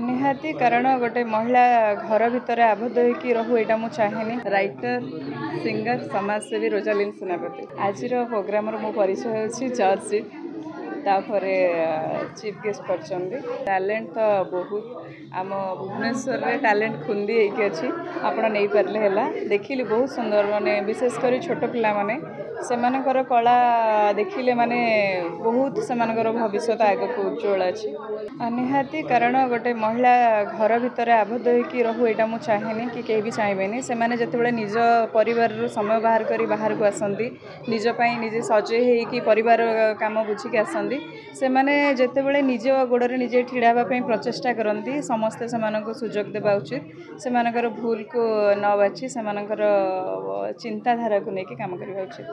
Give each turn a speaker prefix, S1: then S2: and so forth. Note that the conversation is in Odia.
S1: ନିହାତି, କାରଣ ଗୋଟେ ମହିଳା ଘର ଭିତରେ ଆବଦ୍ଧ ହେଇକି ରହୁ, ଏଇଟା ମୁଁ ଚାହେଁନି। ରାଇଟର, ସିଙ୍ଗର, ସମାଜସେବୀ ରୋଜାଲିନ୍ ସେନାପତି। ଆଜିର ପ୍ରୋଗ୍ରାମର ମୋ ପରିଚୟ ହେଉଛି ଜଜ୍ ସିଟ୍, ତାପରେ ଚିଫ୍ ଗେଷ୍ଟ କରିଛନ୍ତି। ଟ୍ୟାଲେଣ୍ଟ ତ ବହୁତ, ଆମ ଭୁବନେଶ୍ୱରରେ ଟ୍ୟାଲେଣ୍ଟ ଖୁନ୍ଦି ହେଇକି ଅଛି, ଆପଣ ନେଇପାରିଲେ ହେଲା। ଦେଖିଲି ବହୁତ ସୁନ୍ଦର, ମାନେ ବିଶେଷ କରି ଛୋଟ ପିଲାମାନେ, ସେମାନଙ୍କର କଳା ଦେଖିଲେ ମାନେ ବହୁତ ସେମାନଙ୍କର ଭବିଷ୍ୟତ ଆଗକୁ ଉଜ୍ଜଳ ଅଛି। ନିହାତି, କାରଣ ଗୋଟେ ମହିଳା ଘର ଭିତରେ ଆବଦ୍ଧ ହେଇକି ରହୁ, ଏଇଟା ମୁଁ ଚାହେଁନି କି କେହି ବି ଚାହିଁବେନି। ସେମାନେ ଯେତେବେଳେ ନିଜ ପରିବାରରୁ ସମୟ ବାହାର କରି ବାହାରକୁ ଆସନ୍ତି, ନିଜ ପାଇଁ ନିଜେ ସଜେଇ ହେଇକି ପରିବାର କାମ ବୁଝିକି ଆସନ୍ତି, ସେମାନେ ଯେତେବେଳେ ନିଜ ଗୋଡ଼ରେ ନିଜେ ଛିଡ଼ା ହେବା ପାଇଁ ପ୍ରଚେଷ୍ଟା କରନ୍ତି, ସମସ୍ତେ ସେମାନଙ୍କୁ ସୁଯୋଗ ଦେବା ଉଚିତ। ସେମାନଙ୍କର ଭୁଲକୁ ନ ବାଛି ସେମାନଙ୍କର ଚିନ୍ତାଧାରାକୁ ନେଇକି କାମ କରିବା ଉଚିତ।